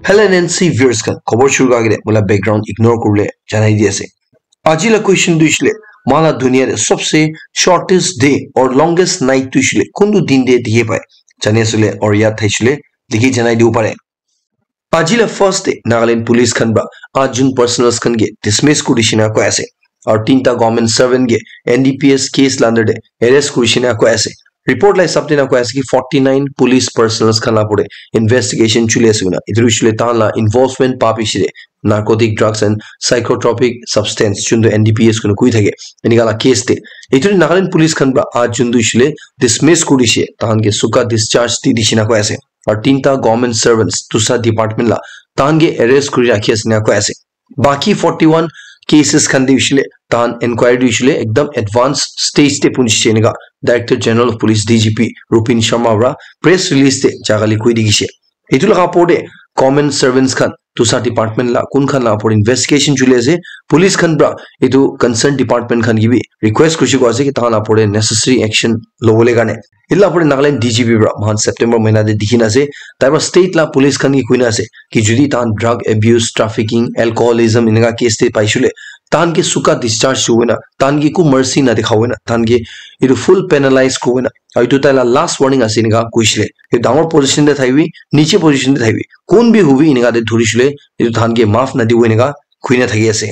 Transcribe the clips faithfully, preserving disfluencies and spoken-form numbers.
Hello N N C viewers khan, khobor shuru kura agete moila background ignore kuribole janai di ase. Aji la question tu hoishe le, moila dunia te sobse shortest day or longest night tu hoishe le kuntu din te dikhi pai? Jani ase le or yad thaishe le dikhi janai dibo pare. Aji la first day Nagaland police khan pra aat jun personals khan ke dismiss kuri dishina koi ase. Aru tinta government servant ke N D P S case la under te arrest kuri dishina koi ase. Report la hisab te na koi ase ki forty nine police personals khan la pore investigation chuli ase koina. Etu hoishe le tahan la involvement pa bishi te narcotic drugs and psychotropic substance, juntu N D P S koina koi thake, enika la case te. Etu Nagaland police khan pra aat jun tu hoishe le dismiss kuri dishe, tahan ke suka discharge di dishina koi ase. Aru tinta government servants, dusa department la, tahan ke arrest kuri rakhi ase na koi ase. Baki forty one cases khan te hoishe le, tahan inquiry tu hoishe le ekdam advance stage te punchise enika Director General of Police, D G P, Rupin Sharma pra press release te jaga li koi dikhishe. Etu laga opor te government servants khan, dusa department la, kun khan la opor investigation chuli ase. Police khan pra etu concerned department khan ke bi request kurishe koi ase ki tahan la opor te necessary action lobole karne. Etu la opor te Nagaland D G P pra moikhan September mahina te dikhi na ase, tai pra state la police khan ke koi na ase ki jodi tahan drug abuse, trafficking, alcoholism enika case te paishe le, tahan ke suka discharge hobo na, tahan ke eku mercy na dikha hobo na, tahan ke etu full penalize kuri bo na. Aru etu tai la last warning ase enika koishe le. Etu dangor position te thakibi, niche position te thakibi, kun bi hobi enika te dhurishe le, etu tahan ke maaf na dibo enika koi na thaki ase.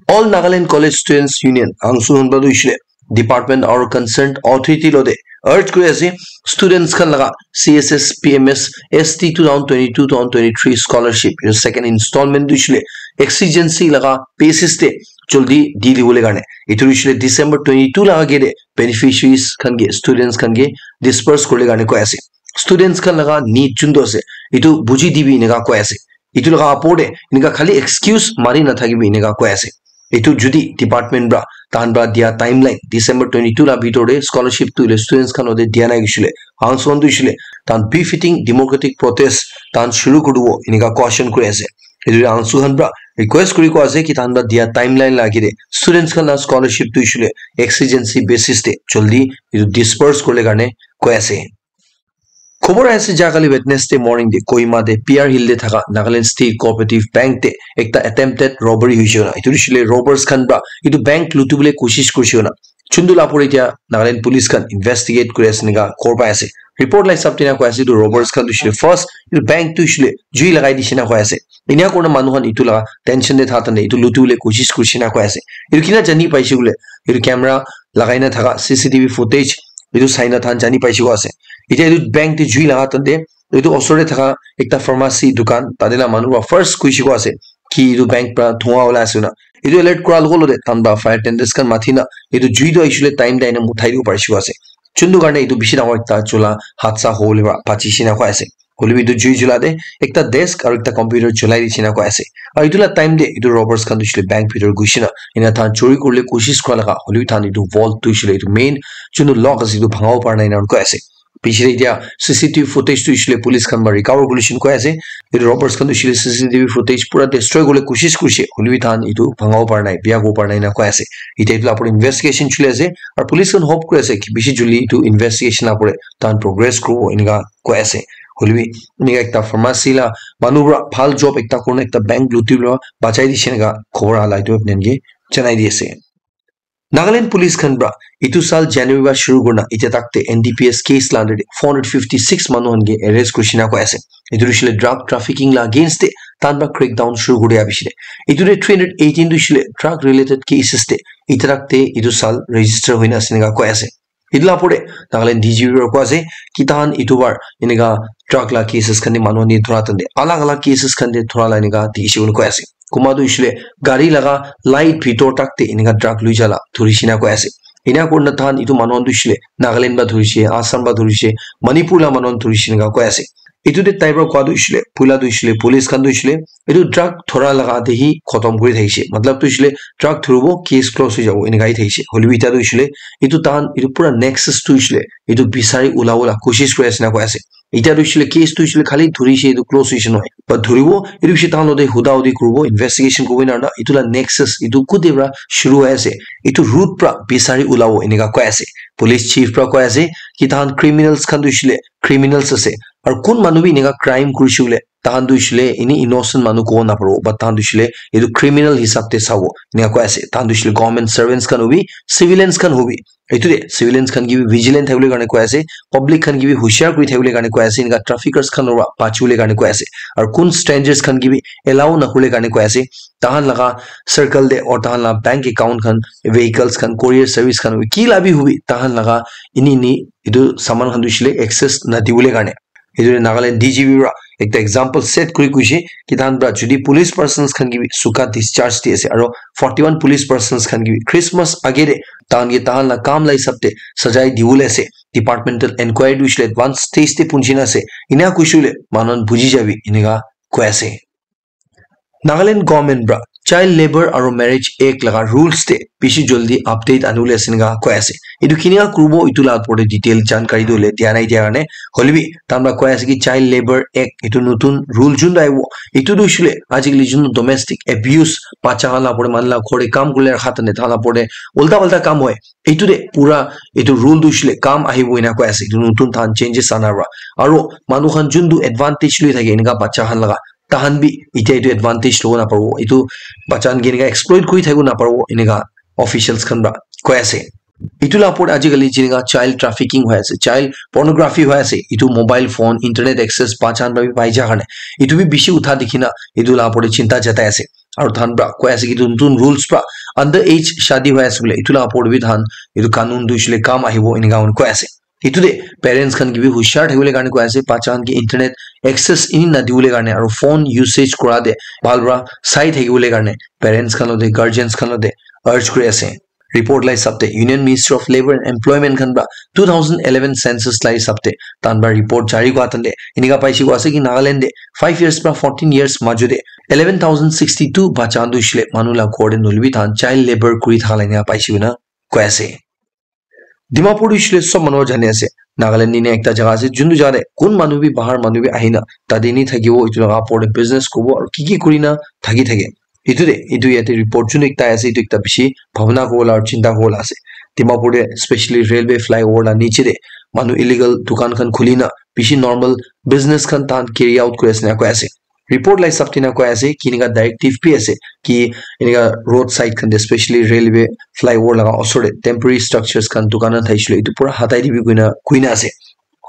All Nagaland College Students Union, AANCU, khan pra tu hoishe le department aru concerned authority lo te urge kuri ase, students khan laga C S S P M S S T two thousand twenty-two two thousand twenty-three scholarship, etu second installment tu hoishe le exigency laga basis te jaldi di dibole karne. Etu hoishe le December twenty-two laga age te beneficiaries khan ke, students khan ke disperse kuribole karne koi ase. Students khan laga need juntu ase, etu buji dibi enika koi ase. Etu laga opor te enika khali excuse mari na thakibi enika koi ase. Etu jodi department pra, tahan pra dia timeline December twenty-two la bhitor te scholarship tu hoile students khan lo te dia nai hoishe le, AANCU khan tu hoishe le tahan befitting democratic protest tahan shuru kuri dibo enika caution kuri ase. Etu AANCU khan pra request kuri koi ase ki tahan pra dia timeline la age te students khan la scholarship tu hoishe le exigency basis te jaldi etu disperse kuribole karne koi ase. Khobor aise ja kali Wednesday morning te Kohima te P R Hill te thaka Nagaland State Cooperative Bank te ekta attempted robbery hoishe koina. Etu hoishe le robbers khan pra etu bank luti bole koshish korishe koina. Juntu la opor te etia Nagaland police khan investigate kuri ase enika khobor pai ase. Report la hisab te na koi ase etu robbers khan tu hoishe le first etu bank tu hoishe le jui lagai dishe na koi ase. Enika kurina manu khan etu la tension te thaka time te etu luti bole koshish korishe na koi ase. Etu kina jani paishe koile etu camera lagai na thaka C C T V footage etu sai na tahan jani paishe koi ase. Etia etu bank te jui laga time te etu osor te thaka ekta pharmacy dukan tate la manu pra first koishe koi ase ki etu bank pra dhua ulai ase koina. Etu alert kura logo logo te tahan pra fire tenders khan mati na etu jui tu aishe le time te aina muthai dibo parishe koi ase. Juntu karne etu bishi dangor ekta chula hadsa hobole pra bachishe na koi ase. Hoilebi etu jui jula te ekta desk aru ekta computer julai dishe na koi ase. Aru etu la time te etu robbers khan tu hoishe le bank bhitor ghushi na ena tahan chori kuribole koshish kura laga hoilebi tahan etu vault tu hoishe le etu main juntu lock ase etu bhanga bo para nai ena koi ase. Piche te etia C C T V footage tu hoishe le police khan para recover kuri dishina koi ase. Etu robbers khan tu hoishe le C C T V footage pura destroy kuribole koshish kurishe hoilebi tahan etu bhanga bo para nai, bia kuribo para nai ena koi ase. Etia etu la opor te investigation choli ase aru police khan hope kuri ase ki bishi joldi etu investigation la opor te tahan progress kuribo enika koi ase. Hoilebi enika ekta pharmacy la manu para bhal job ekta kurina ekta bank luti para bachai dishe enika khobor aha la etu apni khan ke janai di ase. Nagaland police khan para etu saal January para shuru kurina etia tak te N D P S case la under te four hundred fifty six manu khan ke arrest kurishe na koi ase. Etu hoishe le drug trafficking la against te tahan para crackdown shuru kuri dia piche te. Etu te three hundred eighteen tu hoishe le drug related cases te etia tak te etu saal register hoina ase enika koi ase. Etu la opor te Nagaland D G P para koi ase ki tahan etu bar enika drug la cases khan te manu khan ke dhura time te alag alag cases khan te dhura la enika dikhi se koile koi ase. Kunba tu hoishe le gari laga light bhitor tak te enika drug loi ja la dhurishe na koi ase. Ena kurina tahan etu manu khan tu hoishe le Nagaland para dhurishe, Assam para dhurishe, Manipur la manu khan dhurishe enika koi ase. Etu te tai para koi tu hoishe le poila tu hoishe le police khan tu hoishe le etu drug dhura laga te hi khotom kuri thakishe. Matlab tu hoishe le drug dhuribo case close hoi jabo enika hi thakishe. Hoilebi etia tu hoishe le etu tahan etu pura nexus tu hoishe le etu bisari ulabo la koshish kuri ase enika koi ase. Etia tu hoishe le case tu hoishe le khali dhurishe etu close hoishe nohoi. But dhuribo etu hoishe tahan logote huda hudi kuribo, investigation kuribo ena na etu la nexus etu kote para shuru hoi ase. Etu root para bisari ulabo enika koi ase. Police chief para koi ase ki tahan criminals khan tu hoishe le criminals ase. Aru kun manu bi enika crime kurishe koile, tahan tu hoishe koile ini innocent manu kobo naparibo, but tahan tu hoishe koile etu criminal hisab te sabo, enika koi ase. Tahan tu hoishe koile government servants khan hobi, civilians khan hobi. Etu te civilians khan ke bi vigilant thakibole karne koi ase, public khan ke bi hushiar kuri thakibole karne koi ase, enika traffickers khan para bachibole karne koi ase. Aru kun strangers khan ke bi allow nakuribole karne koi ase. Tahan laga circle te or tahan laga bank account khan, vehicles khan, courier service khan, ki la bi hobi, tahan laga ini ini etu saman khan tu hoishe koile access nadibole karne. Etu Nagaland D G P para ekta example set kuri koishe ki tahan para jodi police persons khan ke bi suka discharge di ase, aro forty-one police persons khan ke bi Christmas age te tahan ke tahan la kam la hisab te sajai dibole ase. Departmental inquiry tu hoishe koile advance stage te punchi na ase. Ena koishe koile manu khan buji jabi, enika koi ase. Nagaland government para Child Labour aro Marriage Act laga rules te bishi jaldi update anibole ase enika koi ase. Etu kinika kuribo etu la opor te detail jankari tu hoile dia nai dia karne, hoile bi tahan para koi ase ki Child Labour Act etu notun rule juntu ahibo, etu tu hoishe koile ajikali juntu domestic abuse, bacha khan la opor te manu la ghor te kam kuribole rakha tane tahan la opor te ulta palta kam hoi, etu te pura etu rule tu hoishe koile kam ahibo ena koi ase. Etu notun tahan changes ana para, aro manu khan juntu advantage loi thake enika bacha khan laga, tahan bi etia etu advantage lobo naparibo, etu bacha khan ke enika exploit kuri thakibo naparibo, enika officials khan para koi ase. Etu la opor ajikali jenika child trafficking hoi ase, child pornography hoi ase, etu mobile phone, internet access bacha khan para bi pai ja karne, etu bi bishi utha dikhi na etu la opor te chinta jatai ase. Aru tahan para koi ase ki etu notun rules para under age shadi hoi ase koile etu la opor te bi tahan etu kanun tu hoishe koile kam ahibo enika koi ase. Etu te parents khan ke bi hushiar thakibole karne koi ase, bacha khan ke internet access ini nadibole karne aro phone usage kura te bhal para sai thakibole karne parents khan logote guardians khan logote urge kuri ase. Report la hisab te Union Ministry of Labour and Employment khan para two thousand eleven census la hisab te tahan para report jari kura tante enika paishe koi ase ki Nagaland te five years para fourteen years majo te eleven thousand sixty two bacha khan tu hoishe koile manu la ghor te nohoile bi tahan child labour kuri thaka la enika paishe koina koi ase. Dimapur tu hoishe koile sob manu jani ase, Nagaland nishina ekta jaga ase, juntu jaga te kun manu bi bahar manu bi ahina tate ni thakibo, etu laga opor te business kuribo aru ki ki kurina thaki thake. Etu te, etu yate report juntu ekta ase, etu ekta bishi bhabna kuribo la aru chinta kuribo la ase. Dimapur te specially railway flyover la niche te manu illegal dukan khan khulina bishi normal business khan tahan carry out kuri ase na koi ase. Report la hisab te na koi ase ki enika directive bi ase ki enika road side khan te specially railway flyover laga osor te temporary structures khan dukan khan thakishi koile etu pura hatai dibi koina koina ase.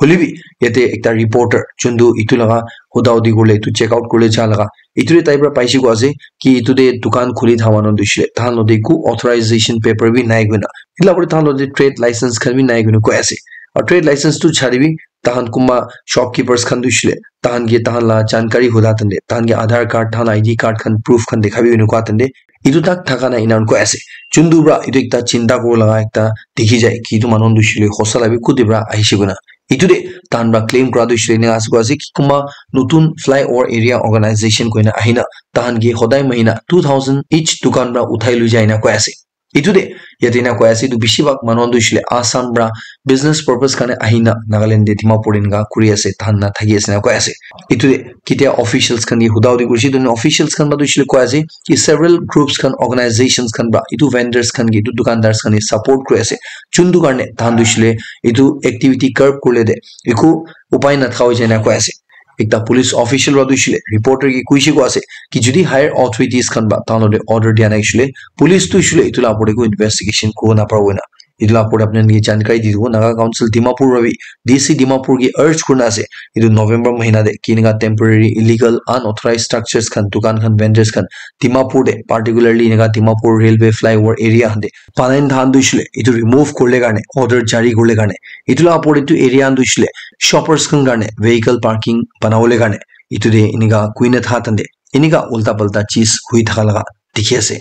Hoile bi yate ekta reporter juntu etu laga huda hudi kuribole etu check out kuribole ja laga etu te tai para paishe koi ase ki etu te dukan khuli thaka manu tu hoishe koile tahan logote eku authorization paper bi nai koina, etu la opor te tahan logote trade license khan bi nai koina koi ase. Aru trade license tu chari bi tahan kunba shopkeepers khan tu hoishe koile tahan ke tahan la jankari huda tante tahan ke Aadhaar card, tahan la I D card khan proof khan dekhabi enika tante etu tak thaka nai enika koi ase. Juntu para etu ekta chinta kuribo laga ekta dikhi jai ki etu manu khan tu hoishe koile hosa la bi kuti para ahishe koina. Etu te tahan para claim kura tu hoishe koile enika ase koi ase ki kunba notun flyover area organization koina ahina tahan ke hodai mahina two thousand each dukan para uthai loi jai enika koi ase. Etu te yate enika koi ase etu bishi bhag manu khan tu hoishe koile Assam para business purpose karne ahina Nagaland te Dimapur enika kuri ase, tahan na thaki ase enika koi ase. Etu te ketia officials khan ke huda hudi kurishe, etu officials khan para tu hoishe koile koi ase ki several groups khan, organizations khan para etu vendors khan ke, etu dukandars khan ke support kuri ase, juntu karne tahan tu hoishe koile etu activity curb kuribole te eku upai nathaka hoi jai enika koi ase. Ekta police official para tu hoishe koile reporter ke koishe koi ase ki jodi higher authorities khan para tahan logote order dia nai hoishe koile police tu hoishe koile etu la opor te eku investigation kuribo naparibo koina. Etu la opor te apni khan ke jankari di dibo. Naga Council Dimapur para bi D C Dimapur ke urge kurina ase etu November mahina te ki enika temporary illegal unauthorized structures khan, dukan khan, vendors khan Dimapur te, particularly enika Dimapur railway flyover area khan te banai na thakan tu hoishe koile etu remove kuribole karne order jari kuribole karne, etu la opor te etu area khan tu hoishe koile shoppers khan karne vehicle parking banabole karne etu te enika koina thakan te enika ulta palta cheez hoi thaka laga dikhi ase.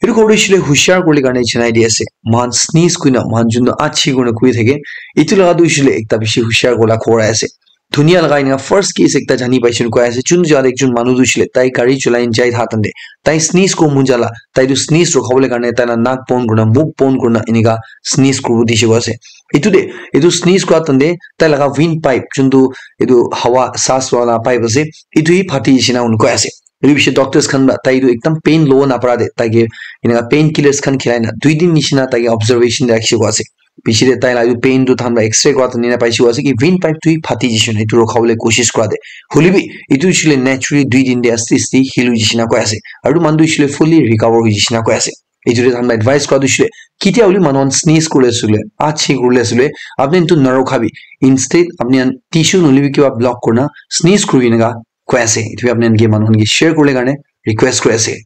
Etu khobor tu hoishe koile hushiar kuribole karne janai di ase. Moikhan sneeze koina, moikhan juntu achi koina koi thake, etu laga tu hoishe koile ekta bishi hushiar kuribole khobor ase. Dunia laga enika first case ekta jani paishe koina koi ase. Juntu jaga te ekjon manu tu hoishe koile tai gari cholai na jai thakan te tai sneeze kuribo mon jala, tai tu sneeze rukhabole karne tai la nak bon kurina, mukh bon kurina enika sneeze kuribo dikhi ase. Etu te, etu sneeze kura time te tai laga windpipe juntu etu hawa saas wala pipe ase, etu hi phati jai ase enika koi ase. Etu bishi doctors khan para tai tu ekdum pain lobo napara te tai ke enika painkillers khan khilai na dui din nishina tai ke observation te rakhi koi ase. Piche te tai la etu pain tu than ba x-ray kora tu nina paise ase ki vein pipe tu hi phati jishe na etu rokha bole koshish kora de. Hoile bi etu hoishe le naturally dui din de asti asti heal hoi jishe na koi ase. Aru manu tu hoishe le fully recover hoi jishe na koi ase. Etu de than ba advice kora tu hoishe le kitia hole manu khan sneeze kore ase le, achi kore ase le, apni tu narokha bi. Instead apni khan tissue nahole bi kiba block kore na sneeze kore bi eneka koi ase. Etu bi apni khan ke manu khan ke share kore le karne request kore ase.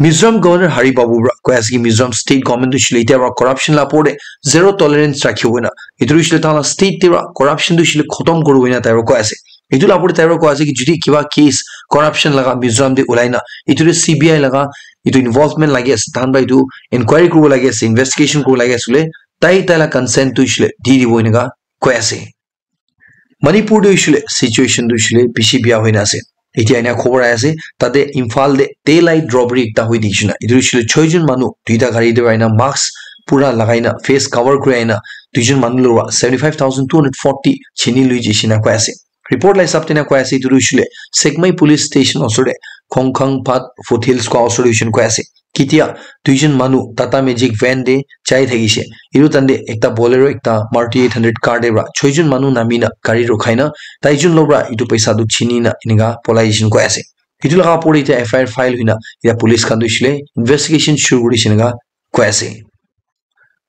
Mizoram Governor Hari Babu para koi ase ki Mizoram state government tu hoishe le etia para corruption la opor te zero tolerance rakhibo na. Etu hoishe le tala state te para corruption tu hoishe le khotom koribo na tai para koi ase. Etu la opor te tai para koi ase ki jodi kiba case corruption laga Mizoram te ulai na, etu te C B I laga etu involvement lagi ase, tahan para etu inquiry koribo lagi ase, investigation koribo lagi ase le, tai tai la consent tu hoishe le di dibo eneka koi ase. Manipur te hoishe le situation tu hoishe le bishi bia hoi na ase. Etia ena khobor ahi ase, tate Imphal te daylight robbery ekta hoi dikhe na. Etu hoishe le choi jon manu duita gari te ahi na mask pura lagai na face cover kuri ahi na dui jon manu lora seventy five thousand two hundred forty chini lui jishe na koi ase. Report la hisab te na koi ase etu hoishe le Sekmai police station osor te Khongkhang Phat foothills koi osor te hoishe na koi ase. Kitia duijon manu Tata Magic van te jai thakishe. Etu tante ekta Bolero, ekta Maruti eight hundred car te para choijon manu nami na gari rukhai na taijon logra etu paisa tu chini na enika polai jishe koi ase. Etu laga opor te F I R file hoina etia police khan tu hoishe le investigation shuru kuri dishe enika koi ase.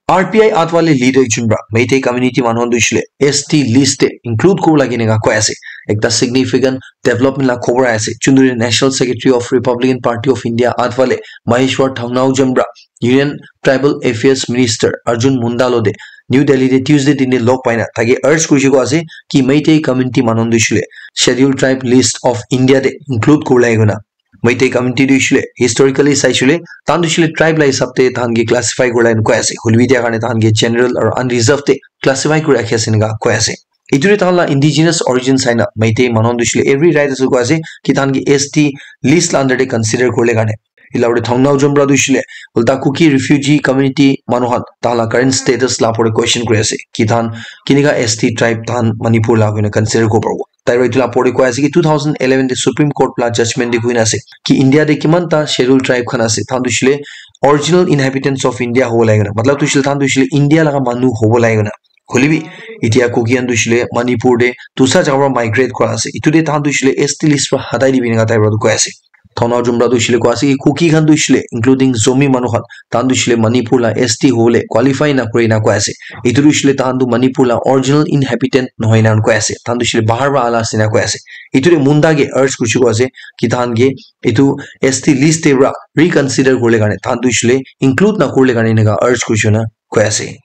R P I Athwale leader jun para Meitei community manu khan tu hoishe le S T list te include koribo lage enika koi ase. Ekta significant development la khobor ahi ase. Chunduri National Secretary of Republican Party of India Athwale Maheshwar Thangnaojam para Union Tribal Affairs Minister Arjun Munda lote New Delhi te Tuesday din te log paina taike urge kurishe koi ase ki Meitei community manu khan tu hoishe le Scheduled Tribe List of India te include koribo lage koina. Meitei community tu hoishe le historically saishe le tahan tu hoishe le tribe la hisab te tahan ke classify koribo lage koina koi ase. Hoile bi etia karne tahan ke general aru unreserved te classify kuri rakhi ase enika koi ase. Etu te tahan la indigenous origin sai na Meitei manu khan tu hoishe le every right ase koi ase ki tahan ke S T list la under te consider koribo le karne. Etu la opor te Thangnaojam para tu hoishe le ulta Kuki refugee community manu khan tahan la current status la opor te question kuri ase ki tahan kinika S T tribe tahan Manipur la koina consider koribo paribo. Tai para etu la opor te koi ase ki two thousand eleven te Supreme Court la judgment te koi na ase ki India te kiman ta scheduled tribe khan ase, tahan tu hoishe le original inhabitants of India hobo lage na, matlab tu hoishe le tahan tu hoishe le India laga manu hobo lage na. Hoile bi etia Kuki khan tu hoishe le Manipur te dusra jaga para migrate kora ase. Etu te tahan tu hoishe le S T list para hatai dibi enika tai para tu koi ase. Thangnaojam para tu hoishe le koi ase ki Kuki khan tu hoishe le including Zomi manu khan tahan tu hoishe le Manipur la S T hobo le qualify na kore na koi ase. Etu tu hoishe le tahan tu Manipur la original inhabitant nohoi na koi ase. Tahan tu hoishe le bahar para ala ase na koi ase. Etu te Munda ke urge kurishe koi ase ki tahan ke etu S T list te para reconsider koribo le karne tahan tu hoishe le include na koribo le karne enika urge kurishe na koi ase.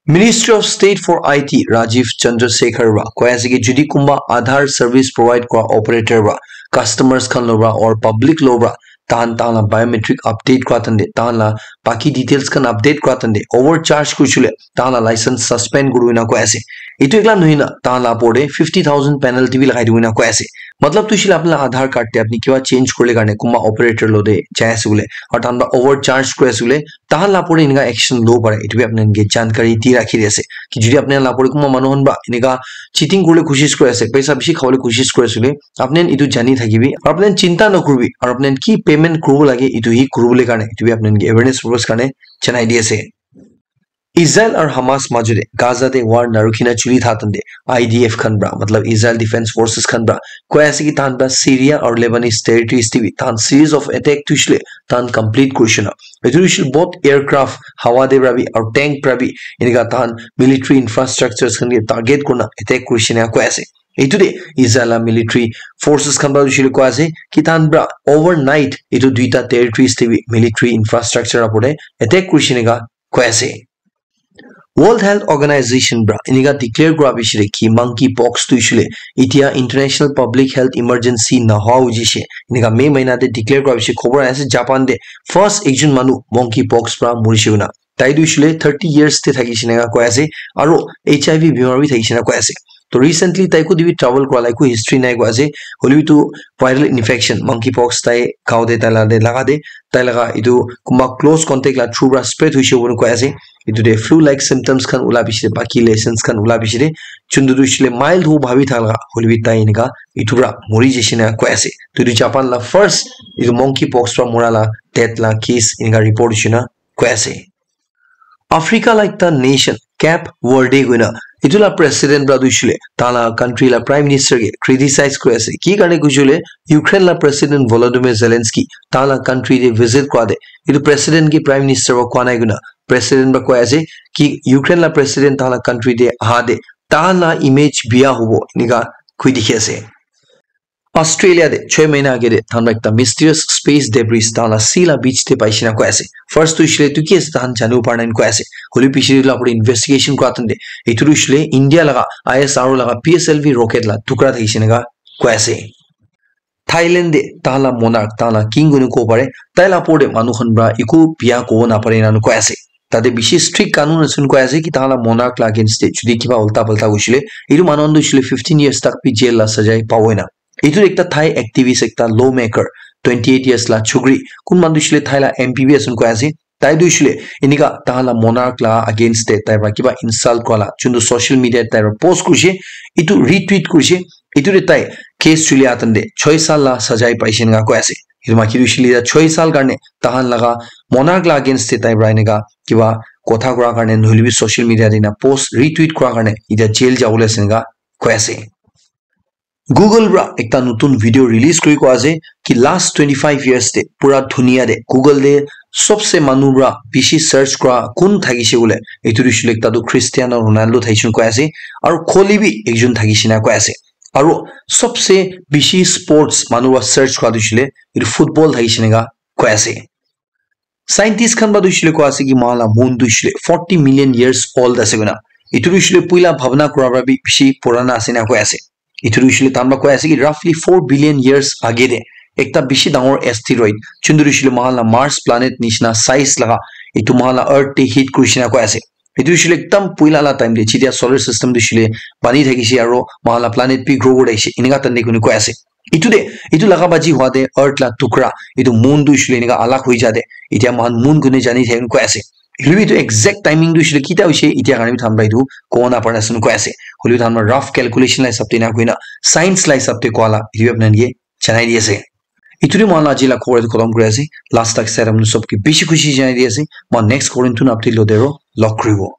Ministry of State for I T Rajiv Chandrasekhar para koi ase ki jodi kunba Aadhaar service provide kora operator para customers khan logra or public logra tahan tahan la biometric update kora tante tahan la baki details khan update kora tante overcharge kurishe le tahan la license suspend koribo na koi ase. Etu ekla nohoi na tahan la opor te fifty thousand penalty bi lagai dibo na koi ase. Matlab tu hoishe le apni la Aadhaar card te apni kiba change korile karne kunba operator lote jai ase bole aru tahan para overcharge kuri ase bole tahan la opor te enika action lobo pare, etu bi apni khan ke jankari di rakhi di ase ki jodi apni khan la opor te kunba manu khan para enika cheating kuribole koshish kuri ase, paisa bishi khabole koshish kuri ase koile, apni khan etu jani thakibi, aru apni khan chinta nakuribi, aru apni khan ki payment kuribo lage, etu hi kuribole karne, etu bi apni khan ke awareness purpose karne janai di ase. Israel aru Hamas majot te Gaza te war narukhi na chuli tha tante I D F khan para, matlab Israel Defense Forces khan para, koi ase ki tahan para Syria aru Lebanese territories te bi tahan series of attack tu hoishe le tahan complete kurishe na. Etu tu hoishe le both aircraft, hawa te para bi aru tank para bi enika tahan military infrastructures khan ke target kurina attack kurishe na koi ase. Etu te Israel la military forces khan para hoishe le koi ase ki tahan para overnight etu duita territories te bi military infrastructure opor te attack kurishe enika koi ase. World Health Organization para enika declare kura piche te ki monkey pox tu hoishe le etia international public health emergency nahoa hoi jishe. Enika May mahina te declare kura piche khobor ahi ase Japan te first ekjon manu monkey pox para morishe koina. Tai tu hoishe le thirty years te thakishe enika koi ase aru H I V bimar bi thakishe enika koi ase. To recently tai koti bi travel kura la eku history nai koi ase. Hoile bi tu viral infection, monkey pox tai gao te tai la te laga te, tai laga etu kunba close contact la through para spread hoishe koina koi ase. Etu te flu like symptoms khan ula piche te, baki lessons khan ula piche te, chuntu tu hoishe le mild hobo bhabi thaka laga, hoile bi tai enika etu para mori jishe enika koi ase. To etu Japan la first etu monkey pox para mora la death la case enika report hoishe na koi ase. Africa la ekta nation Cape Verde koina, etu la president pra tu hoishe koile tahan la country la prime minister ke criticize kuri ase. Ki karne koishe koile Ukraine la president Volodymyr Zelensky tahan la country te visit kura te, etu president ke prime minister pra koa nai koina president pra koi ase ki Ukraine la president tahan la country te aha te tahan la image biya hobo enika koi dikhi ase. Australia te choi mahina age te tahan pra ekta mysterious space debris tahan la sea la beach te paishe na koi ase. First tu hoishe koile etu ki ase tahan janibo para nai koi ase. Hoilebi piche te etu la opor te investigation kura time te etu tu hoishe koile India laga I S R O laga P S L V rocket la tukra thakishe enika koi ase. Thailand te tahan la monarch, tahan la king koina kobo pare, tai la opor te manu khan pra eku biya kobo napare enika koi ase. Tate bishi strict kanun ase koi ase ki tahan la monarch la against te jodi kiba ulta palta hoishe koile, etu manu khan tu hoishe koile fifteen years tak bi jail la sajai pabo enika. Etu ekta Thai activist, ekta lawmaker, twenty eight years la chukri, kun manu tu hoishe koile Thai la M P bi ase koi ase. Tai tu hoishe koile enika tahan la monarch la against te tai pra kiba insult kura la, juntu social media te tai pra post kurishe, etu retweet kurishe, etu te tai case chuli atan te choi sal la sajai paishe enika koi ase. Etu maki tu hoishe koile choi sal karne tahan laga monarch la against te tai pra enika kiba kotha kura karne nohoilebi social media te enika post retweet kura karne etia jail jabole ase enika koi ase. Google pra ekta notun video release kuri koi ase ki last twenty five years te pura dunia te Google te sobse manu pra bishi search kura kun thakishe koile, etu tu hoishe koile ekta tu Cristiano Ronaldo thakishe koi ase, aru Kohli bi ekjon thakishe enika koi ase. Aru sobse bishi sports manu pra search kura tu hoishe koile etu football thakishe enika koi ase. Scientist khan pra tu hoishe koile koi ase ki moikhan la moon tu hoishe koile forty million years old ase koina. Etu tu hoishe koile puila bhabna kura pra bi bishi purana ase enika koi ase. Etu tu hoishe koile tahan pra koi ase ki roughly four billion years age te ekta bishi dangor asteroid, juntu tu hoishe koile moikhan la Mars planet nishina size laga, etu moikhan la earth te hit kurishe enika koi ase. Etu hoishe koile ekdam puila la time te jetia solar system tu hoishe koile bani thakishe aru moikhan la planet bi grow kuri thakishe enika time te koina koi ase. Etu te, etu laga baji hua te earth la tukra, etu moon tu hoishe koile enika alag hoi ja te, etia moikhan moon koina jani thake koi ase. Hoilebi etu exact timing tu hoishe koile ketia hoishe etia karne bi tahan pra etu kobo napare ase koi ase. Hoilebi tahan pra rough calculation la hisab te enika koina science la hisab te koa la etu bi apni khan ke janai di ase. Etu te moikhan la aji la khobor etu khotom kuri ase. Last tak sai apni sob ke bishi khushi janai di ase. Moikhan next khobor etu na update lo te aro log kuribo.